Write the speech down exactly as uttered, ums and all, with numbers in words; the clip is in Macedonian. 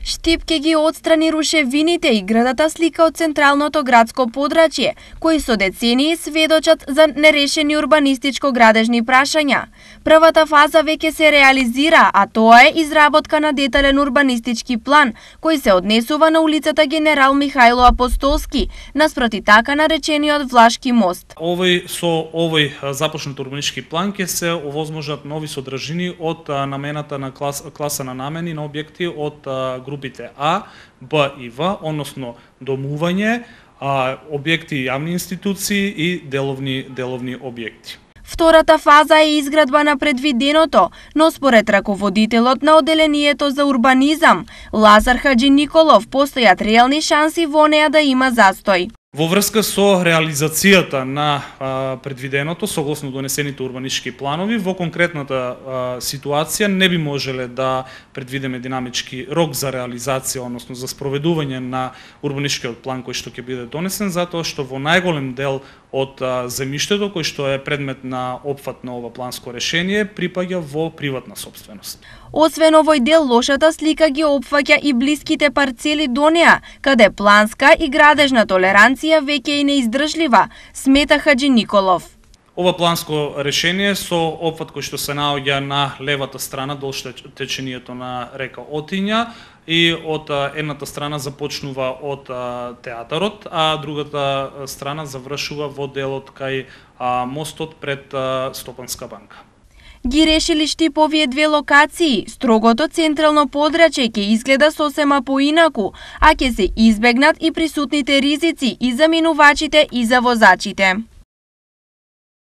Штип ке ги отстрани рушевините и градата слика од централното градско подрачје, кои со децении сведочат за нерешени урбанистичко-градежни прашања. Првата фаза веќе се реализира, а тоа е изработка на детален урбанистички план, кој се однесува на улицата Генерал Михајло Апостолски, наспроти така наречениот Влашки мост. Овој со овој започнат урбанистички план ќе се овозможат нови содржини од намената на клас, класа на намени на објекти од групите А, Б и В, односно домување, објекти јавни институции и деловни деловни објекти. Втората фаза е изградба на предвиденото, но според раководителот на Оделението за урбанизам, Лазар Хаджи Николов, постојат реални шанси во неа да има застој. Во врска со реализацијата на а, предвиденото, согласно донесените урбанистички планови, во конкретната а, ситуација не би можеле да предвидиме динамички рок за реализација, односно за спроведување на урбанистичкиот план кој што ќе биде донесен, затоа што во најголем дел од а, земјиштето кој што е предмет на опфат на ова планско решение припаѓа во приватна сопственост. Освен овој дел, лошата слика ги опфаќа и блиските парцели до неа, каде планска и градежна толеранција веќе е неиздржлива, смета Хаджи Николов. Ова планско решение со опфат кој што се наоѓа на левата страна долж течението на река Отиња и од едната страна започнува од театарот, а другата страна завршува во делот кај мостот пред Стопанска банка. Ги решили Штип овие две локации, строгото централно подрачје ќе изгледа сосема поинаку, а ќе се избегнат и присутните ризици и за минувачите и за возачите.